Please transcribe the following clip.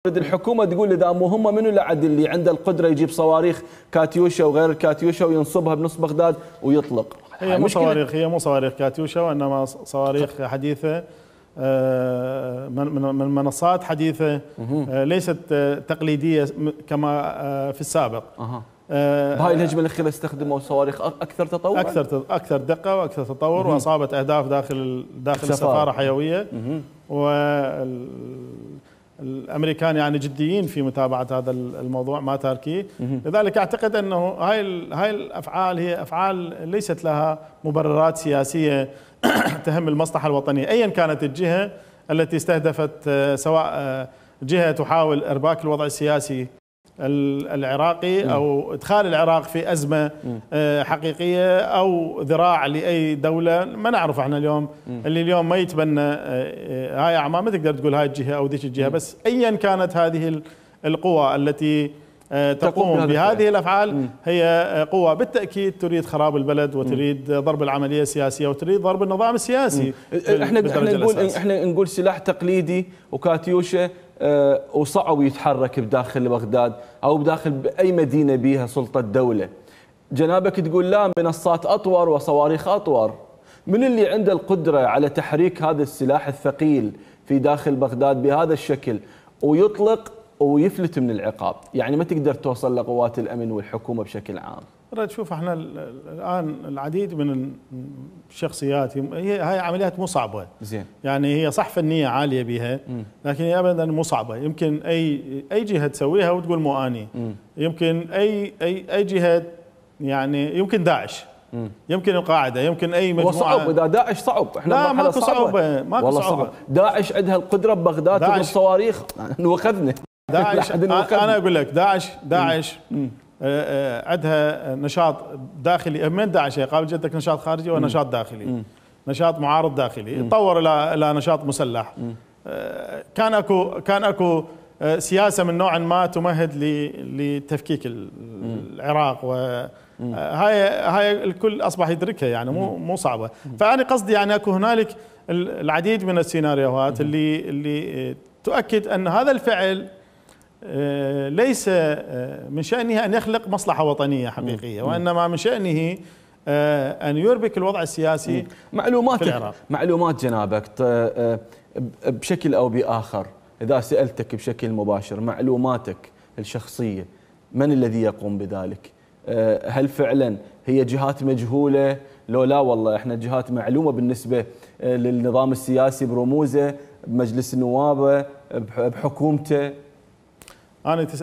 الحكومة تقول إذا مهمة منو العدل اللي عنده القدرة يجيب صواريخ كاتيوشا وغير الكاتيوشا وينصبها بنص بغداد ويطلق. هي مو صواريخ كاتيوشا وإنما صواريخ حديثة من منصات حديثة ليست تقليدية كما في السابق. بهاي الهجمة الأخيرة استخدموا صواريخ أكثر تطور؟ أكثر دقة وأكثر تطور وأصابت أهداف داخل السفارة حيوية. الامريكان يعني جديين في متابعه هذا الموضوع ما تاركيه، لذلك اعتقد انه هاي الافعال هي افعال ليست لها مبررات سياسيه تهم المصلحه الوطنيه، ايا كانت الجهه التي استهدفت، سواء جهه تحاول ارباك الوضع السياسي العراقي او ادخال العراق في ازمه حقيقيه او ذراع لاي دوله. ما نعرف احنا اليوم اللي اليوم ما يتبنى هاي اعمال، ما تقدر تقول هاي الجهه او ذيك الجهه، بس ايا كانت هذه القوى التي تقوم بهذه الافعال هي قوى بالتاكيد تريد خراب البلد وتريد ضرب العمليه السياسيه وتريد ضرب النظام السياسي. احنا نقول سلاح تقليدي وكاتيوشا وصعب يتحرك بداخل بغداد او بداخل باي مدينه بيها سلطه دوله. جنابك تقول لا، منصات اطور وصواريخ اطور. من اللي عنده القدره على تحريك هذا السلاح الثقيل في داخل بغداد بهذا الشكل ويطلق ويفلت من العقاب؟ يعني ما تقدر توصل لقوات الامن والحكومه بشكل عام. شوف احنا الان العديد من الشخصيات، هاي عمليات مو صعبه. زين. يعني هي صح فنيه عاليه بها، لكن هي ابدا مو صعبه. يمكن اي جهه تسويها وتقول مو اني. يمكن اي جهه، يعني يمكن داعش، يمكن القاعده، يمكن اي مجموعه. صعب اذا داعش صعب. احنا لا ماكو صعوبه، ماكو صعوبه. داعش عندها القدره ببغداد تضرب صواريخ واخذنا. داعش انا اقول لك داعش عندها نشاط داخلي. من داعش قابل جدك نشاط خارجي ونشاط داخلي، نشاط معارض داخلي تطور الى نشاط مسلح. كان اكو سياسه من نوع ما تمهد لتفكيك العراق، وهاي الكل اصبح يدركها، يعني مو صعبه. فانا قصدي يعني اكو هنالك العديد من السيناريوهات اللي تؤكد ان هذا الفعل ليس من شأنه أن يخلق مصلحة وطنية حقيقية، وإنما من شأنه أن يربك الوضع السياسي في العراق. معلومات جنابك بشكل أو بآخر، إذا سألتك بشكل مباشر، معلوماتك الشخصية من الذي يقوم بذلك؟ هل فعلا هي جهات مجهولة؟ لو لا والله احنا جهات معلومة بالنسبة للنظام السياسي برموزه، بمجلس النواب، بحكومته. أنا